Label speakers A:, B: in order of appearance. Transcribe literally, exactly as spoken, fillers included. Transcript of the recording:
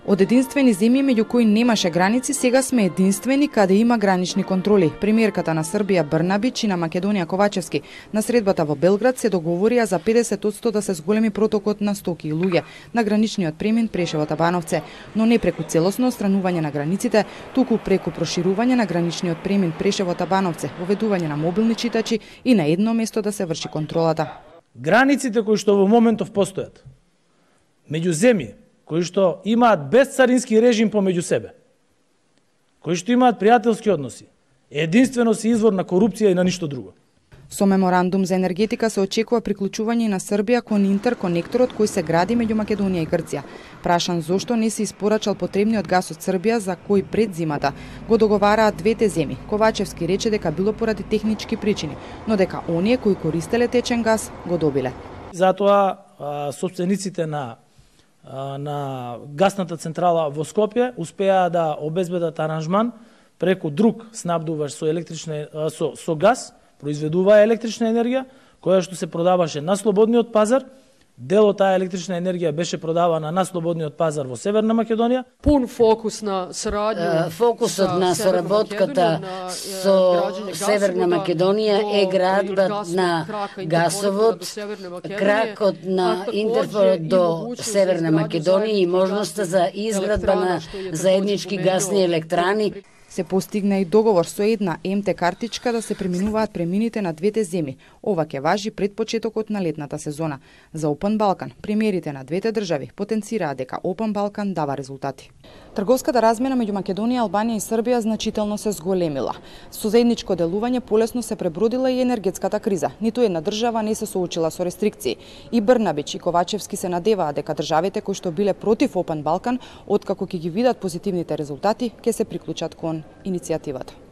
A: Од единствени земји меѓу кои немаше граници, сега сме единствени каде има гранични контроли. Премиерката на Србија Брнабич и на Македонија Ковачевски на средбата во Белград се договорија за педесет одсто да се зголеми протокот на стоки и луѓе на граничниот премин Прешево-Табановце, но не преку целосно отстранување на границите, туку преку проширување на граничниот премин Прешево-Табановце, воведување на мобилни читачи и на едно место да се врши контролата.
B: Границите кои што во моментов постојат меѓу земји кои што имаат безцарински режим помеѓу себе, кои што имаат пријателски односи, единствено се извор на корупција и на ништо друго.
A: Со меморандум за енергетика се очекува приклучување на Србија кон интерконекторот кој се гради меѓу Македонија и Грција. Прашан зошто не се испорачал потребниот газ од Србија за кој пред зимата го договараат двете земји, Ковачевски рече дека било поради технички причини, но дека оние кои користеле течен газ го добиле.
B: Затоа собствениците на на гасната централа во Скопје успеа да обезбедат аранжман преку друг снабдуваш со електрична со со газ, произведува електрична енергија која што се продаваше на слободниот пазар. Дел од таа електрична енергија беше продавана на слободниот пазар во Северна Македонија.
C: Пун фокус на сарадња.
D: Фокусот на соработката со Северна Македонија е градба на гасовод, кракот на интерфорот до Северна Македонија и можноста за изградба на заеднички гасни електрани.
A: Се постигна и договор со една Ем Те картичка да се преминуваат премините на двете земји. Ова ќе важи пред почетокот на летната сезона. За Опен Балкан, премиерите на двете држави потенцираа дека Опен Балкан дава резултати. Трговската размена меѓу Македонија, Албанија и Србија значително се зголемила. Со заедничко делување полесно се пребродила и енергетската криза. Ниту една држава не се соочила со рестрикции. И Брнабич и Ковачевски се надеваа дека државите кои што биле против Опен Балкан, откако ќе ги видат позитивните резултати, ќе се приклучат кон иницијативата.